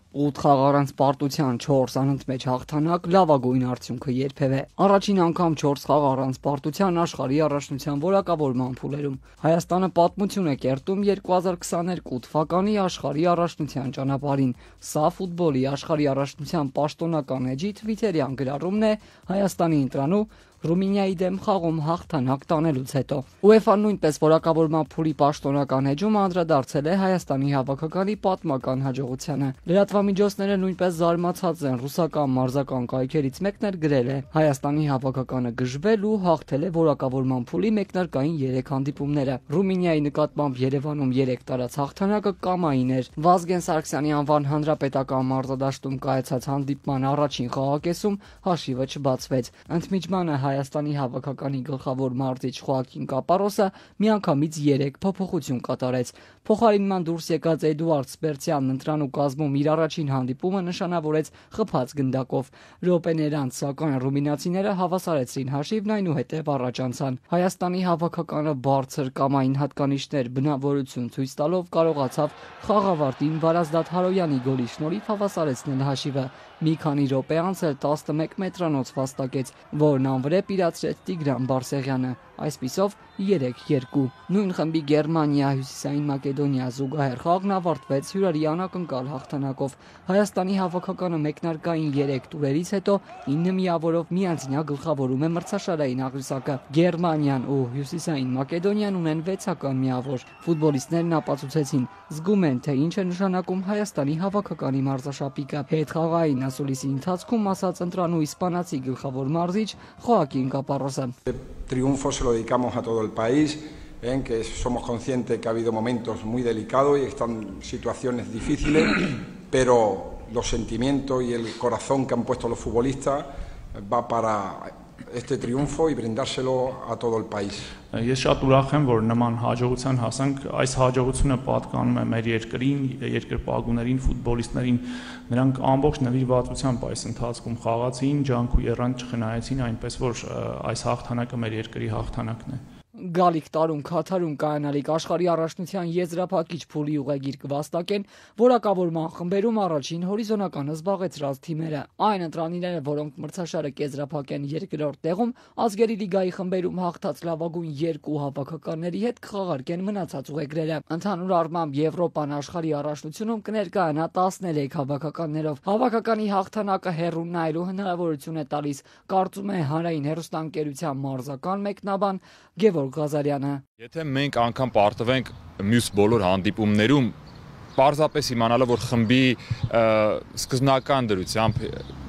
8 խաղ առանց պարտության 4 անընդմեջ հաղթանակ լավագույն արդյունքը երբևէ։ Առաջին անգամ 4 խաղ առանց պարտության աշխարհի առաջնության որակավորման փուլերում Հայաստանը պատմություն է կերտում 2022 թվականի աշխարհի առաջնության ճանապարհին։ Սա ֆուտբոլի աշխարհի առաջնության պաշտոնական էջի թվիթերյան գրառումն է Հայաստանի ընտրանու Ռումինիայի դեմ խաղում հաղթանակ տանելուց հետո։ UEFA-ն նույնպես որակավորման փուլի պաշտոնական էջում անդրադարձել է Հայաստանի հավաքականի պատմական հաջողությանը։ Լրատվամիջոցները նույնպես զարմացած են, ռուսական մարզական կայքերից մեկն էլ գրել է. Հայաստանի հավաքականը գժվել ու հաղթել է որակավորման փուլի մեկնարկային 3 հանդիպումները։ Ռումինիայի նկատմամբ Երևանում 3 տարած հաղթանակը կամային էր։ Վազգեն Սարգսյանի անվան հանրապետական մարզադաշտում կայացած հանդիպման առաջին խաղակեսում հաշիվը չբացվեց։ Ընդմիջմանը Հայաստանի հավաքականի գլխավոր մարզիչ Խոակին Կապարոսը միանգամից 3 փոփոխություն կատարեց։ Փոխարինման դուրս եկած Էդուարդ Սպերցյանն ընտրանու կազմում իր առաջին հանդիպումը նշանավորեց խփած գնդակով։ Րոպեներ անց սակայն ռումինացիները հավասարեցրին հաշիվն, այնուհետև առաջ անցան։ Հայաստանի հավաքականը բարձր կամային հատկանիշներ բնավորություն ցույց տալով կարողացավ խաղավարտին Վարազդատ Հարոյանի գոլի շնորհիվ հավասարեցնել հաշիվը։ Մի քանի րոպե անց էլ 11 մետրանոց վաստակեց, որն անվրեպ իրացրեց Տիգրան Բարսեղյանը, այսպիսով 3-2։ Նույն խմբի Գերմանիա Հյուսիսային Մակեդոնիա զուգահեռ խաղն ավարտվեց հյուրերի անակնկալ հաղթանակով։ Հայաստանի հավաքականը մեկնարկային 3 տուրերից հետո 9 միավորով միանձնյա գլխավորում է մրցաշարային աղյուսակը։ Գերմանիան ու Հյուսիսային Մակեդոնիան ունեն 6-ական միավոր։ Ֆուտբոլիստներն ապացուցեցին, զգում են, թե ինչ է նշանակում Հայաստանի հավաքականի մարզաշապիկը։ Հետխաղային ասուլիսի ընթացքում ասաց ընտրանու իսպանացի գլխավոր մարզիչ Joaquín Caparrós. Triunfo se lo dedicamos a todo el país, en que somos conscientes que ha habido momentos muy delicados y están situaciones difíciles, pero los sentimientos y el corazón que han puesto los futbolistas va para este triunfo y brindárselo a todo el país. Ես շատ ուրախ եմ, որ նման հաջողության հասանք, այս հաջողությունը պատկանում է մեր երկրին, երկրպագուներին, ֆուտբոլիստներին, նրանք ամբողջ նվիրվածությամբ այս ընթացքում խաղացին, ջանք ու եռանդ չխնայեցին, այնպես որ այս հաղթանակը մեր երկրի հաղթանակն է։ Գալիք տարում Քաթարում կայանալիք աշխարհի առաջնության եզրափակիչ փուլի ուղեգիր կվաստակեն որակավորման խմբերում առաջին հորիզոնականը զբաղեցրած թիմերը։ Այն ընտրանիները, որոնք մրցաշարը կեզրափակեն երկրորդ տեղում, ազգերի լիգայի խմբերում հաղթած լավագույն 2 հավաքականների հետ կխաղարկեն մնացած ուղեգրերը։ Ընդհանուր առմամբ Եվրոպան աշխարհի առաջնությունում կներկայանա 13 հավաքականներով։ Հավաքականի հաղթանակը հեռուն նայելու հնարավորություն է տալիս, կարծում է Հանրային հեռուստաընկերության մարզական մեկնաբան Գևորգ Ղազարյանը։ Եթե մենք անգամ պարտվենք մյուս բոլոր հանդիպումներում, պարզապես իմանալով, որ խմբի սկզբնական դրությամբ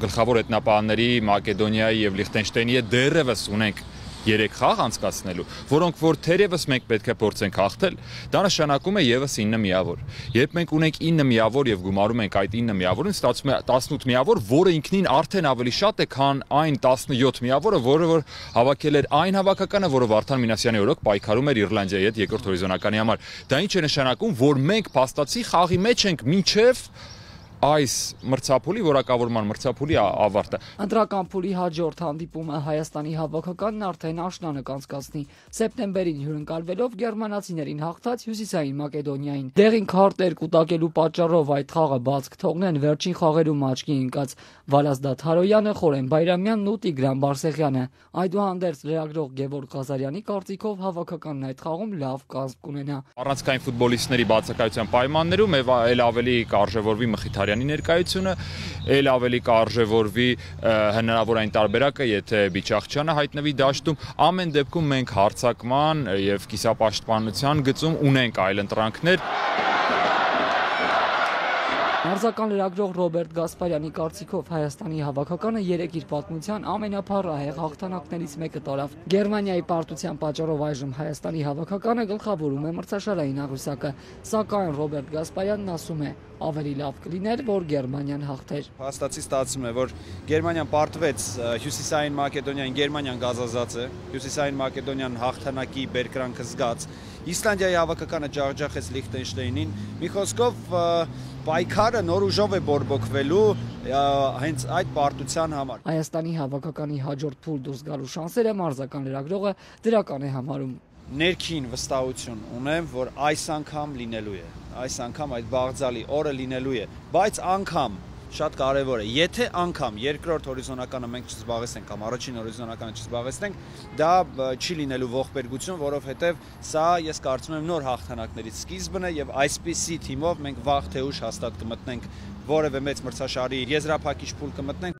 գլխավոր ետնապահների Մակեդոնիայի եւ Լիխտենշտեյնի հետ դեռևս ունենք 3 խաղ անցկացնելու, որոնք որ թերևս մենք պետք է փորձենք հաղթել, դա նշանակում է եւս 9 միավոր։ Երբ մենք ունենք 9 միավոր եւ գումարում ենք այդ 9 միավորին, ստացվում է 18 միավոր, որը ինքնին արդեն ավելի շատ է, քան այն 17 միավորը, որը որ հավաքել էր այն հավաքականը, որը Վարդան Մինասյանի օրոք պայքարում էր Իռլանդիայի հետ երկրորդ հորիզոնականի համար։ Դա ինչ է նշանակում, որ մենք փաստացի խաղի մեջ ենք մինչեւ այս մրցափուլի որակավորման մրցափուլի ավարտը։ Ընտրական փուլի հաջորդ հանդիպումը Հայաստանի հավաքականն արդեն աշնանը կանցկացնի։ Սեպտեմբերին հյուրընկալվելով գերմանացիներին հաղթած Հյուսիսային Մակեդոնիային։ Դեղին քարտեր կուտակելու պատճառով այդ խաղը բաց կթողնեն վերջին խաղերում աչքի ընկած Վարազդատ Հարոյանը, Խորեն Բայրամյանն ու Տիգրան Բարսեղյանը։ Այդուհանդերձ լրագրող Գևորգ Ղազարյանի կարծիքով հավաքականն այդ խաղում լավ կազմ կունենա։ Առանցքային ֆուտբոլիստների բացակայության պայմաններում էլ ավելի կարժևորվի Մխիթարյանի ներկայությունը, էլ ավելի կարժևորվի հնարավոր այն տարբերակը, եթե Բիչախչյանը հայտնվի դաշտում, ամեն դեպքում մենք հարձակման եւ կիսապաշտպանության գծում ունենք այլ ընտրանքներ։ Մարզական լրագրող Ռոբերտ Գասպարյանի կարծիքով Հայաստանի հավաքականը 3 իր պատմության ամենափառահեղ հաղթանակներից մեկը տարավ։ Գերմանիայի պարտության պատճառով այժմ Հայաստանի հավաքականը գլխավորում է մրցաշարային աղյուսակը, սակայն Ռոբերտ Գասպարյանն ասում է, ավելի լավ կլիներ, որ Գերմանիան հաղթեր։ Հաստատի ստացվում է, որ Գերմանիան պարտվեց Հյուսիսային Մակեդոնիային, Գերմանիան գազազած է, Հյուսիսային Մակեդոնիան հաղթանակի բերկրանքը զգաց։ Իսլանդիայի հավաքականը ջախջախեց Լիխտենշտեյնին։ Մի խոսքով պայքարը նոր ուժով է բորբոքվելու հենց այդ պարտության համար։ Հայաստանի հավաքականի հաջորդ փուլ դուրս գալու շանսերը մարզական լրագրողը դրական է համարում։ ներքին վստահություն ունեմ, որ այս անգամ լինելու է, այս անգամ այդ բաղձալի օրը լինելու է, բայց անգամ շատ կարևոր է, եթե անգամ երկրորդ հորիզոնականը մենք չզբաղեցնենք կամ առաջին հորիզոնականը չզբաղեցնենք, դա չի լինելու ողբերգություն, որովհետև սա ես կարծում եմ նոր հաղթանակներից սկիզբն է եւ այսպիսի թիմով մենք վաղ թե ուշ հաստատ կմտնենք որևէ մեծ մրցաշարի եզրափակիչ փուլ կմտնենք